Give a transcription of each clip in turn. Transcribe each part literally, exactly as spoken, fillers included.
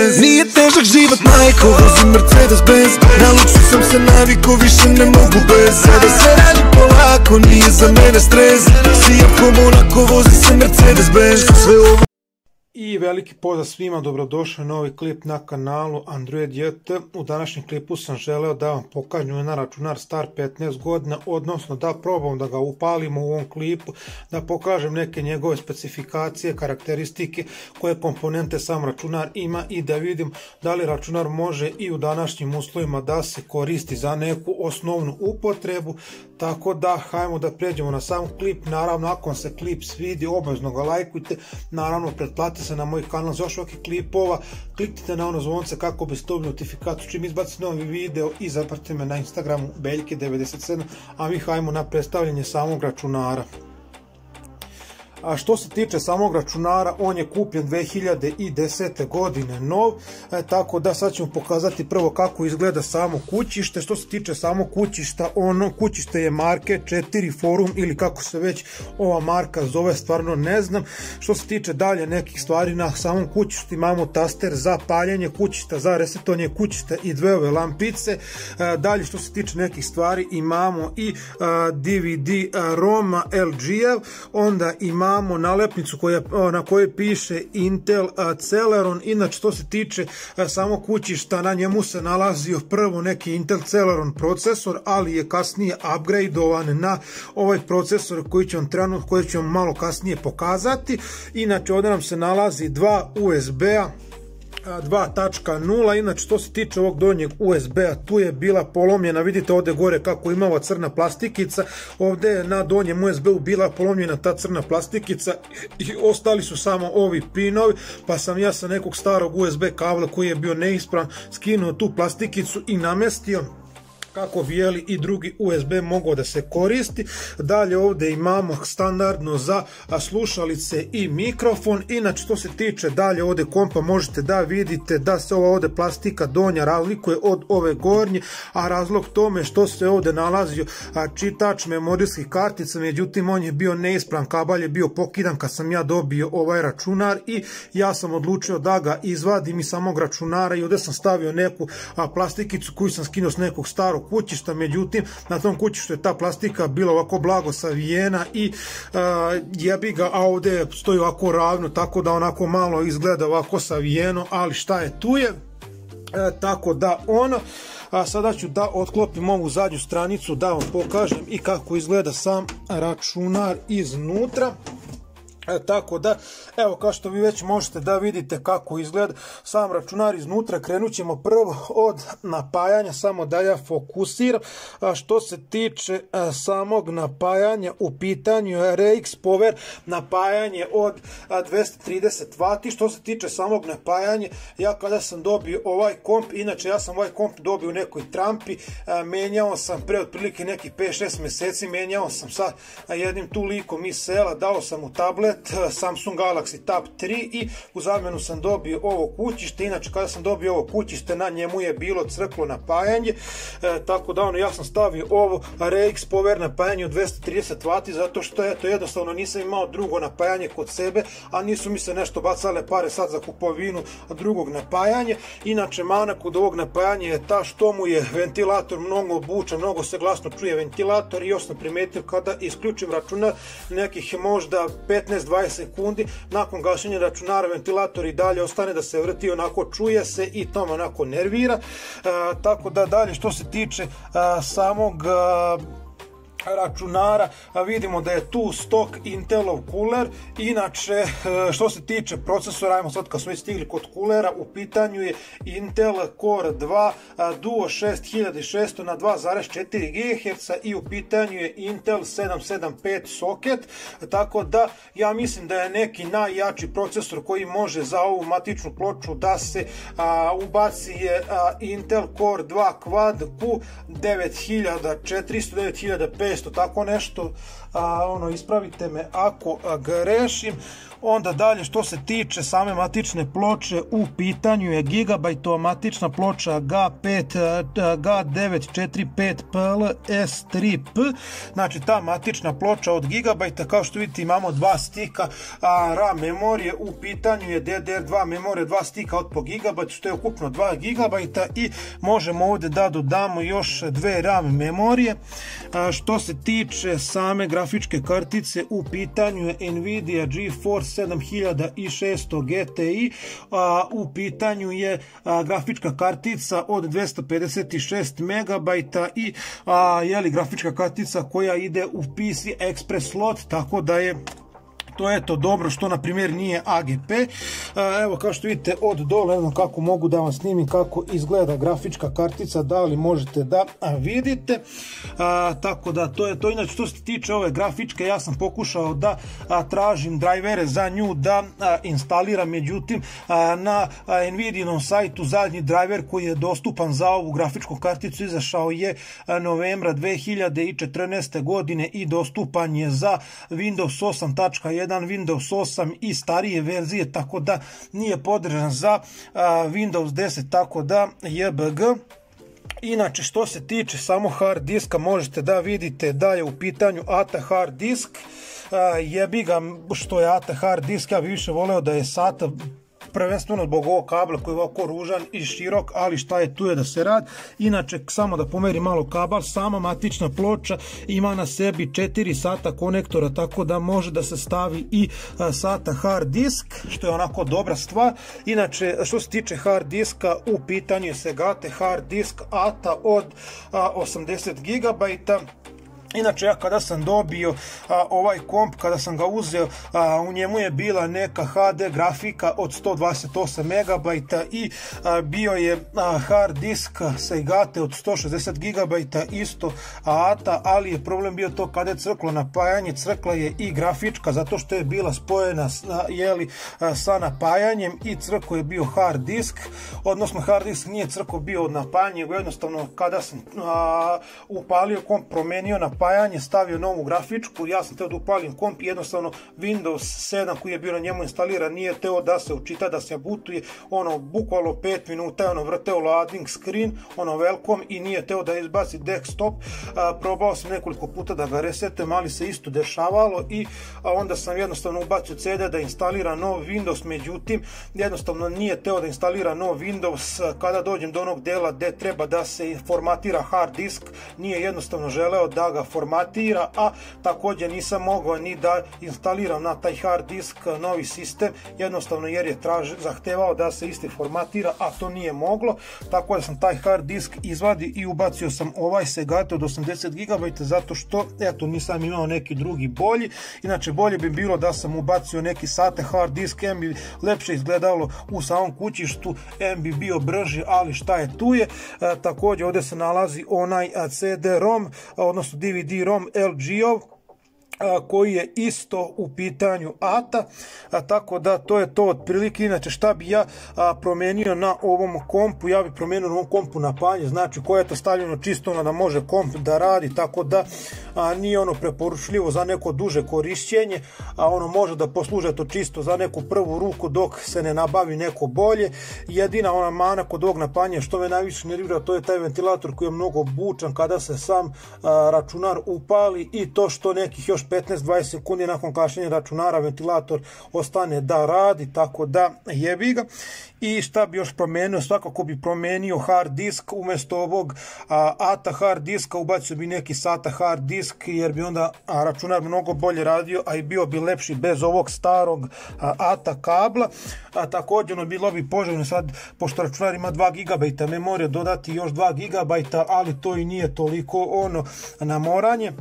Benz. Nije težak život majko, vozim Mercedes Benz. Na luksu sam se navikao, više ne mogu bez. Sada se radi polako, nije za mene stres. Sijam ko Monaco, vozi se Mercedes Benz. Sve ovo. I veliki pozdrav svima, dobrodošli na novi klip na kanalu Android J T. U današnjem klipu sam želeo da vam pokažem jedan računar star petnaest godina, odnosno da probam da ga upalimo u ovom klipu, da pokažem neke njegove specifikacije, karakteristike, koje komponente sam računar ima i da vidim da li računar može i u današnjim uslovima da se koristi za neku osnovnu upotrebu. Tako da, hajmo da pređemo na sam klip. Naravno, ako vam se klip svidi, obavezno ga lajkujte. Naravno, pretplatite se na moj kanal za još ovakvih klipova. Kliknite na ono zvonce kako biste dobili notifikaciju čim izbacim novi video i zapratite me na Instagramu Beljke devedeset sedam. A mi hajmo na predstavljanje samog računara. A što se tiče samog računara, on je kupljen dve hiljade desete godine nov, e, tako da sad ćemo pokazati prvo kako izgleda samo kućište. Što se tiče samog kućišta, ono kućište je marke četiri Forum ili kako se već ova marka zove, stvarno ne znam. Što se tiče dalje nekih stvari, na samom kućištu imamo taster za paljenje kućišta, za resetovanje kućišta i dve ove lampice. E, dalje što se tiče nekih stvari imamo i a, D V D ROM L G-ev, onda imamo imamo nalepnicu koja, na kojoj piše Intel Celeron. Inače, što se tiče samog kućišta, na njemu se nalazio prvo neki Intel Celeron procesor, ali je kasnije upgradeovan na ovaj procesor koji ću vam trenutno, koji ću vam malo kasnije pokazati. Inače, ovdje nam se nalazi dva U S B-a dva tačka nula. Inače, što se tiče ovog donjeg U S B-a, tu je bila polomljena, vidite ovdje gore kako ima ova crna plastikica, ovdje je na donjem U S B-u bila polomljena ta crna plastikica i ostali su samo ovi pinovi, pa sam ja sa nekog starog U S B kabla koji je bio neispravan skinuo tu plastikicu i namestio kako bi jeli i drugi U S B mogao da se koristi. Dalje ovdje imamo standardno za slušalice i mikrofon. Inače, što se tiče dalje ovdje kompa, možete da vidite da se ova ovdje plastika donja razlikuje od ove gornje, a razlog tome što se ovdje nalazio čitač memorijskih kartica, međutim on je bio neispravan, kabel je bio pokidan kad sam ja dobio ovaj računar i ja sam odlučio da ga izvadim iz samog računara i ovdje sam stavio neku plastikicu koju sam skinuo s nekog starog kućišta, međutim na tom kućištu je ta plastika bila ovako blago savijena i uh, jebi ga, a ovdje stoji ovako ravno, tako da onako malo izgleda ovako savijeno, ali šta je tu je. E, tako da ono, a sada ću da otklopim ovu zadnju stranicu da vam pokažem i kako izgleda sam računar iznutra. E, tako da, evo, kao što vi već možete da vidite kako izgleda sam računar iznutra. Krenut ćemo prvo od napajanja, samo da ja fokusiram. A što se tiče a, samog napajanja, u pitanju je R X Power napajanje od a, dvesta trideset vati. Što se tiče samog napajanja, ja kada sam dobio ovaj komp, inače ja sam ovaj komp dobio u nekoj trampi, a, menjao sam pre otprilike nekih pet šest mjeseci, menjao sam sa a, jednim tu likom iz sela, dao sam mu tablet Samsung Galaxy Tab tri i u zamjenu sam dobio ovo kućište. Inače, kada sam dobio ovo kućište, na njemu je bilo crklo napajanje, e, tako da ono, ja sam stavio ovo R X Power napajanje od dvesta trideset vati, zato što eto, jednostavno nisam imao drugo napajanje kod sebe, a nisu mi se nešto bacale pare sad za kupovinu drugog napajanja. Inače, mana kod ovog napajanja je ta što mu je ventilator mnogo buča, mnogo se glasno čuje ventilator i još sam primetio kada isključim računar nekih možda petnaest do dvadeset sekundi, nakon gašenja računara ventilator i dalje ostane da se vrti, onako čuje se i to me onako nervira. E, tako da dalje što se tiče a, samog a, računara, a vidimo da je tu stok Intelov kuler. Inače, što se tiče procesora, ajmo sad kad smo stigli kod kulera, u pitanju je Intel Core dva Duo šest hiljada šesto na dva zarez četiri gigaherca i u pitanju je Intel sedam sedam pet soket, tako da ja mislim da je neki najjači procesor koji može za ovu matičnu ploču da se a, ubaci je a, Intel Core dva Quad Q devet hiljada četiristo, devet hiljada petsto, tako nešto, a, ono, ispravite me ako a, grešim. Onda dalje što se tiče same matične ploče, u pitanju je gigabajtova matična ploča G pet, G devet četiri pet P L S tri P, znači ta matična ploča od gigabajta, kao što vidite imamo dva stika a, RAM memorije, u pitanju je D D R dva memorija, dva stika od po gigabajt, što je ukupno dva gigabajta i možemo ovdje da dodamo još dve RAM memorije. A, što se tiče same grafičke kartice, u pitanju je Nvidia GeForce sedam hiljada šesto G T I, a, u pitanju je a, grafička kartica od dvesta pedeset šest megabajta i a, jeli, grafička kartica koja ide u P C Express slot, tako da je to je to dobro što na primjer nije A G P. Evo kao što vidite od dole, ne znam kako mogu da vam snimim kako izgleda grafička kartica, da li možete da vidite. A, tako da to je to. Inače što se tiče ove grafičke, ja sam pokušao da a, tražim drajvere za nju da a, instaliram, međutim a, na a, Nvidijinom sajtu zadnji drajver koji je dostupan za ovu grafičku karticu izašao je a, novembra dve hiljade četrnaeste godine i dostupan je za Windows osam tačka jedan, Windows osam i starije verzije, tako da nije podržan za a, Windows deset, tako da J B G. Inače što se tiče samo hard diska, možete da vidite da je u pitanju A T A hard disk. A, jebi ga što je A T A hard disk, ja bih više voleo da je SATA, prvenstveno zbog ovog kabla koji je ovako ružan i širok, ali šta je tu je da se radi. Inače samo da pomerim malo kabel, sama matična ploča ima na sebi četiri SATA konektora, tako da može da se stavi i SATA hard disk, što je onako dobra stvar. Inače što se tiče hard diska, u pitanju je Seagate hard disk A T A od a, osamdeset gigabajta. Inače ja kada sam dobio a, ovaj komp, kada sam ga uzeo, a, u njemu je bila neka H D grafika od sto dvadeset osam megabajta i a, bio je a, hard disk Seagate od sto šezdeset gigabajta isto A T A, ali je problem bio to kada je crklo napajanje, crkla je i grafička zato što je bila spojena a, jeli, a, sa napajanjem i crko je bio hard disk, odnosno hard disk nije crko bio od napajanja, jednostavno kada sam a, upalio komp, promenio napajanje, napajanje, stavio novu grafičku, ja sam teo da upalim komp i jednostavno Windows sedam koji je bio na njemu instaliran nije teo da se učita, da se butuje, ono bukvalno pet minuta je ono vrteo loading screen, ono welcome i nije teo da izbaci desktop. A, probao sam nekoliko puta da ga resetujem, ali se isto dešavalo i a onda sam jednostavno ubacio C D da instalira nov Windows, međutim jednostavno nije teo da instalira nov Windows. Kada dođem do onog dela gde treba da se formatira hard disk, nije jednostavno želeo da ga formatira, a također nisam mogao ni da instaliram na taj hard disk novi sistem, jednostavno jer je traži, zahtevao da se isti formatira, a to nije moglo, tako da sam taj hard disk izvadi i ubacio sam ovaj Seagate od osamdeset gigabajta zato što, eto, nisam imao neki drugi bolji. Inače bolje bi bilo da sam ubacio neki SATA hard disk, em bi lepše izgledalo u samom kućištu, em bi bio brži, ali šta je tu je. E, također ovdje se nalazi onaj C D ROM, odnosno D V D ROM L G-ov, koji je isto u pitanju A T A, a, tako da to je to otprilike. Inače šta bi ja a, promenio na ovom kompu, ja bi promenio na ovom kompu napajanje, znači koje je to stavljeno čisto ono da može komp da radi, tako da a, nije ono preporučljivo za neko duže korišćenje, a ono može da posluže to čisto za neku prvu ruku dok se ne nabavi neko bolje. Jedina ona mana kod ovog napajanja što me najviše nervira, to je taj ventilator koji je mnogo bučan kada se sam a, računar upali i to što nekih još petnaest do dvadeset sekundi nakon kašnjenja računara ventilator ostane da radi, tako da jebi ga. I šta bi još promenio, svakako bi promenio hard disk, umjesto ovog a, A T A hard diska ubacio bi neki SATA hard disk jer bi onda a, računar mnogo bolje radio, a i bio bi lepši bez ovog starog a, A T A kabla. A, također ono bilo bi poželjno sad, pošto računar ima dva gigabajta memorije, dodati još dva gigabajta, ali to i nije toliko ono na moranje.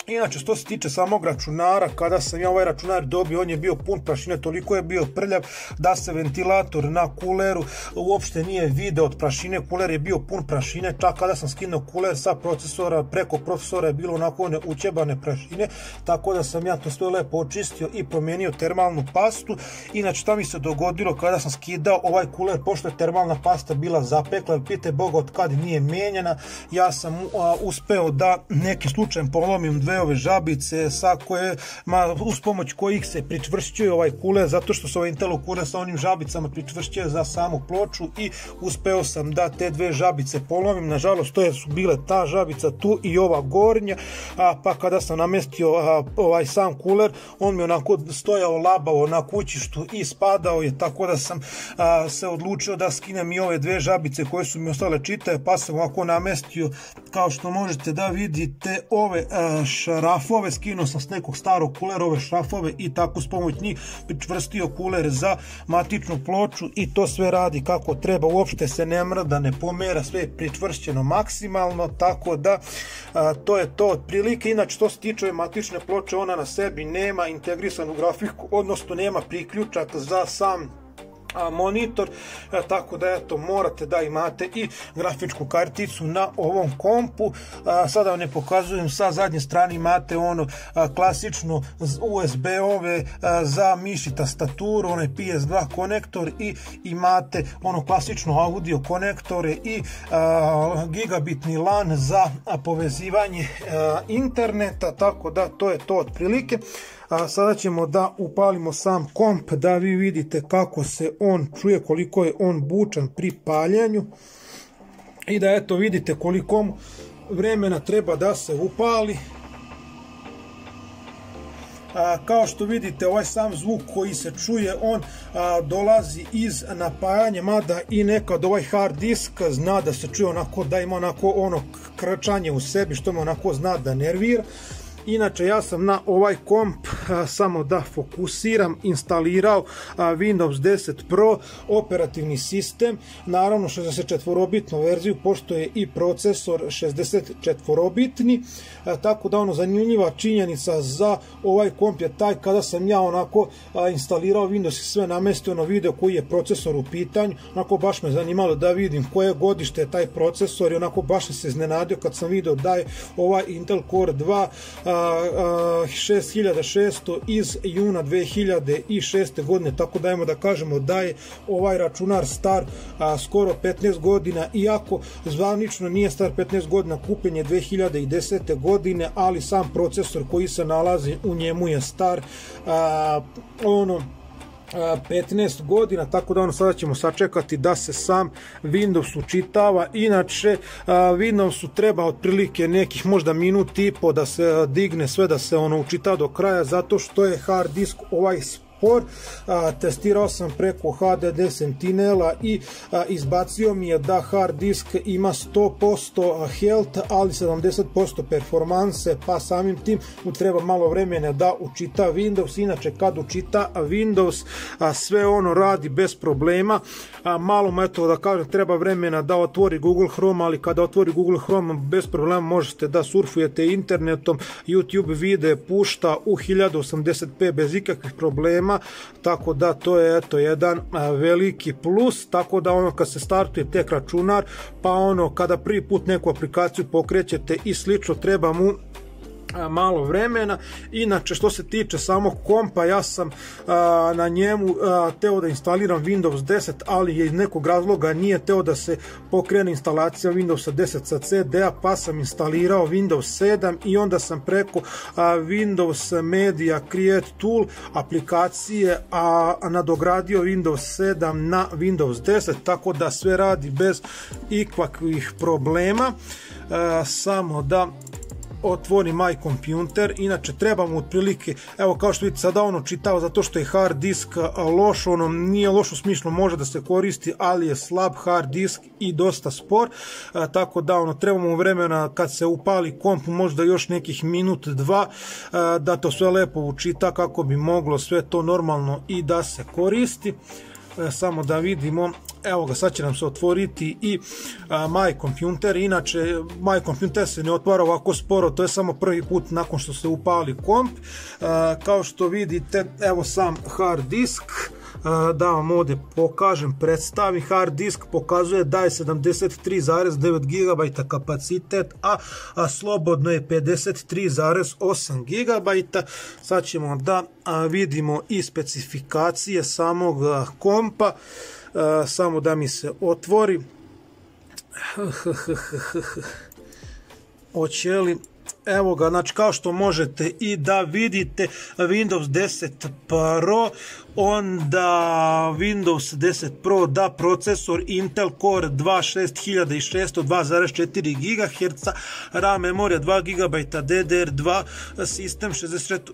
Inače što se tiče samog računara, kada sam ja ovaj računar dobio, on je bio pun prašine, toliko je bio prljav da se ventilator na kuleru uopšte nije video od prašine, kuler je bio pun prašine, čak kada sam skinuo kuler sa procesora, preko procesora je bilo onako one učebane prašine, tako da sam ja to sve lepo očistio i promijenio termalnu pastu. Inače šta mi se dogodilo kada sam skidao ovaj kuler, pošto je termalna pasta bila zapekla, pite Boga od kad nije mijenjana, ja sam a, uspeo da nekim slučajem polomim dve be-ove žabice sa koje, ma, uz pomoć kojih se pričvršćuje ovaj kuler, zato što su ovaj Intelov kuler sa onim žabicama pričvršćuje za samu ploču i uspeo sam da te dve žabice polomim. Nažalost, to je su bile ta žabica tu i ova gornja, a, pa kada sam namestio a, ovaj sam kuler, on mi onako stojao labavo na kućištu i spadao je, tako da sam a, se odlučio da skinem i ove dve žabice koje su mi ostale čitave, pa sam ovako namestio, kao što možete da vidite, ove a, šrafove, skinuo sam s nekog starog kulera ove šrafove i tako s pomoć njih pričvrstio kuler za matičnu ploču i to sve radi kako treba, uopšte se ne mrda, ne pomera, sve je pričvršćeno maksimalno, tako da a, to je to otprilike. Inače, što se tiče matične ploče, ona na sebi nema integrisanu grafiku, odnosno nema priključak za sam monitor, tako da eto, morate da imate i grafičku karticu na ovom kompu. Sada vam ne pokazujem, sa zadnje strane imate ono klasično U S B-ove za miš i tastaturu, onaj P S dva konektor i imate ono klasično audio konektore i gigabitni LAN za povezivanje interneta, tako da to je to otprilike. A sada ćemo da upalimo sam komp da vi vidite kako se on čuje, koliko je on bučan pri paljenju i da eto vidite koliko vremena treba da se upali. A, kao što vidite, ovaj sam zvuk koji se čuje, on a, dolazi iz napajanja, mada i nekad ovaj hard disk zna da se čuje onako, da ima onako ono krčanje u sebi, što me onako zna da nervira. Inače, ja sam na ovaj komp, a, samo da fokusiram, instalirao a, Windows deset Pro operativni sistem, naravno šezdeset četvorobitnu verziju, pošto je i procesor šezdeset četvorobitni, a, tako da ono zanimljiva činjenica za ovaj komp je taj, kada sam ja onako a, instalirao Windows i sve namestio na video koji je procesor u pitanju, onako baš me zanimalo da vidim koje godište je taj procesor i onako baš se iznenadio kad sam video da je ovaj Intel Core dva a, šest hiljada šesto iz juna dve hiljade šeste godine, tako da ajmo da kažemo da je ovaj računar star a, skoro petnaest godina, iako zvanično nije star petnaest godina, kupljen je dve hiljade desete godine, ali sam procesor koji se nalazi u njemu je star a, ono petnaest godina, tako da ono sada ćemo sačekati da se sam Windows učitava. Inače, Windowsu treba otprilike nekih možda minut i po da se digne sve, da se ono učita do kraja, zato što je hard disk ovaj spor. A, testirao sam preko H D D Sentinela i a, izbacio mi je da hard disk ima sto posto health, ali sedamdeset posto performanse, pa samim tim mu treba malo vremena da učita Windows. Inače, kad učita Windows, a, sve ono radi bez problema. A, malo mu, eto da kažem, treba vremena da otvori Google Chrome, ali kada otvori Google Chrome bez problema možete da surfujete internetom, YouTube video pušta u hiljadu osamdeset p bez ikakvih problema, tako da to je eto jedan a, veliki plus. Tako da ono kad se startuje tek računar, pa ono kada prvi put neku aplikaciju pokrećete i slično, treba mu malo vremena. Inače, što se tiče samog kompa, ja sam a, na njemu a, teo da instaliram Windows deset, ali je iz nekog razloga nije teo da se pokrene instalacija Windows deset sa C D-a, pa sam instalirao Windows sedam i onda sam preko a, Windows Media Create Tool aplikacije a, a nadogradio Windows sedam na Windows deset, tako da sve radi bez ikakvih problema. A, samo da otvorim My Computer. Inače, treba mu otprilike, evo kao što vidite sada ono čitao, zato što je hard disk loš, ono nije loš u smislu, može da se koristi, ali je slab hard disk i dosta spor, a, tako da ono treba mu vremena kad se upali komp, možda još nekih minut dva, a, da to sve lepo učita kako bi moglo sve to normalno i da se koristi. E, samo da vidimo, evo ga, sad će nam se otvoriti i a, My Computer. Inače, My Computer se ne otvara ovako sporo, to je samo prvi put nakon što se upali komp. A, kao što vidite, evo sam hard disk, a, da vam ovdje pokažem, predstavim. Hard disk pokazuje da je sedamdeset tri zarez devet gigabajta kapacitet, a, a slobodno je pedeset tri zarez osam gigabajta. Sad ćemo da a, vidimo i specifikacije samog a, kompa. Uh, samo da mi se otvori. Hoće li? evo ga, znači kao što možete i da vidite Windows deset Pro, onda Windows deset Pro da procesor Intel Core dva šest hiljada šesto dva zarez četiri gigaherca, RAM memorija dva gigabajta, D D R dva sistem, šezdeset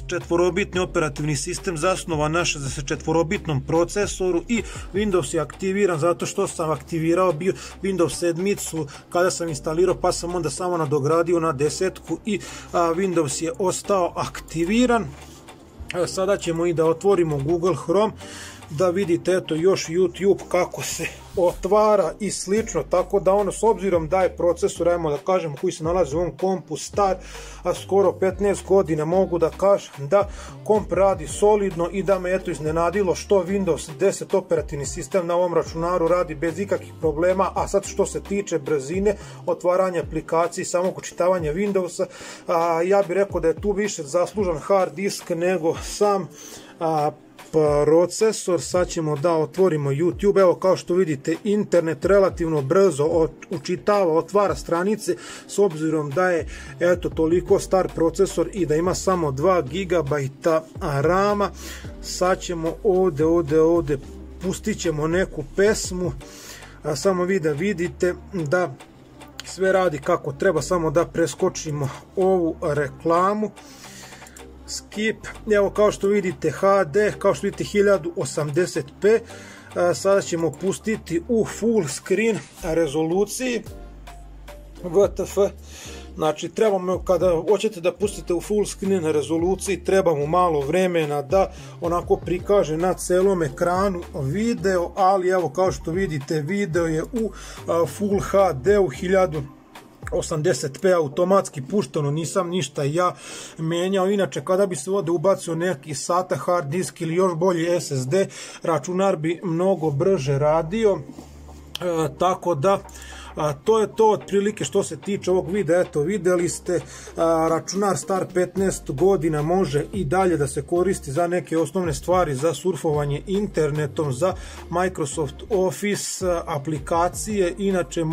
četvorobitni operativni sistem zasnovan na šezdeset četvorobitnom procesoru i Windows je aktiviran zato što sam aktivirao bio Windows sedmicu kada sam instalirao, pa sam onda samo nadogradio na desetku i a, Windows je ostao aktiviran. Evo, sada ćemo i da otvorimo Google Chrome da vidite eto još YouTube kako se otvara i slično, tako da ono s obzirom da je procesor, ajmo da kažem, koji se nalazi u ovom kompu star a skoro petnaest godina, mogu da kažem da komp radi solidno i da me eto iznenadilo što Windows deset operativni sistem na ovom računaru radi bez ikakvih problema. A sad što se tiče brzine otvaranja aplikacije i samog učitavanja Windowsa, a, ja bih rekao da je tu više zaslužan hard disk nego sam a, procesor. Sad ćemo da otvorimo YouTube. Evo kao što vidite internet relativno brzo učitava, otvara stranice s obzirom da je eto toliko star procesor i da ima samo dva gigabajta rama. Sad ćemo ovde, ovde, ovde pustit ćemo neku pesmu, a samo vi da vidite da sve radi kako treba, samo da preskočimo ovu reklamu. Skip, evo kao što vidite H D, kao što vidite hiljadu osamdeset p, sada ćemo pustiti u full screen rezoluciji W T F, znači trebamo, kada hoćete da pustite u full screen rezoluciji, treba mu malo vremena da onako prikaže na celom ekranu video, ali evo kao što vidite video je u full H D u hiljadu osamdeset p automatski pušteno, nisam ništa ja menjao. Inače kada bi se ovdje ubacio neki SATA hard disk ili još bolji S S D, računar bi mnogo brže radio, e, tako da A, to je to otprilike što se tiče ovog videa. Eto, videli ste, a, računar star petnaest godina može i dalje da se koristi za neke osnovne stvari, za surfovanje internetom, za Microsoft Office a, aplikacije. Inače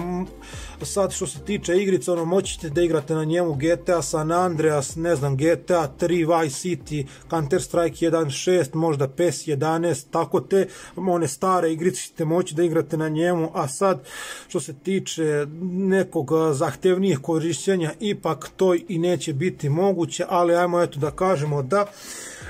sad što se tiče igrica, ono, moćete da igrate na njemu G T A San Andreas, ne znam, G T A tri, Vice City, Counter Strike jedan šest, možda P E S jedanaest, tako te one stare igrice ćete moći da igrate na njemu. A sad što se tiče nekog zahtevnijeg korišćenja, ipak to i neće biti moguće, ali ajmo eto da kažemo da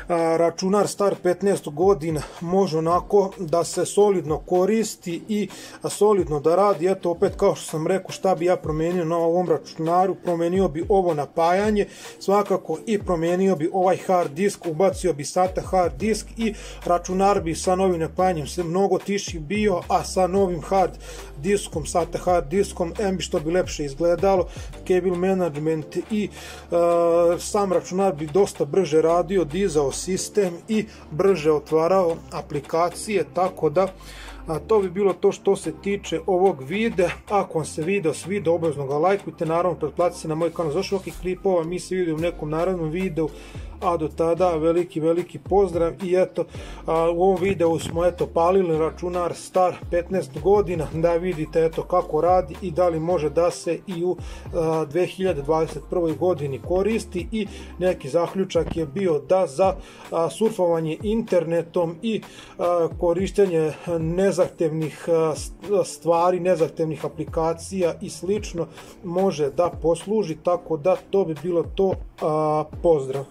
a, računar star petnaest godina može onako da se solidno koristi i a, solidno da radi. Eto opet kao što sam rekao, šta bi ja promenio na ovom računaru, promenio bi ovo napajanje svakako i promenio bi ovaj hard disk, ubacio bi SATA hard disk i računar bi sa novim napajanjem se mnogo tiši bio, a sa novim hard diskom, SATA hard diskom, em bi što bi lepše izgledalo, cable management i uh, sam računar bi dosta brže radio, dizao sistem i brže otvarao aplikacije, tako da a to bi bilo to što se tiče ovog videa. Ako vam se video svidio, obavezno ga lajkujte, naravno pretplatite se na moj kanal za još ovakvih klipova. Mi se vidimo u nekom narednom videu, a do tada veliki veliki pozdrav. I eto, a, u ovom videu smo eto palili računar star petnaest godina da vidite eto kako radi i da li može da se i u a, dve hiljade dvadeset prvoj godini koristi. I neki zaključak je bio da za a, surfovanje internetom i a, korištenje nezahtevnih a, stvari, nezahtevnih aplikacija i slično može da posluži, tako da to bi bilo to. A, pozdrav.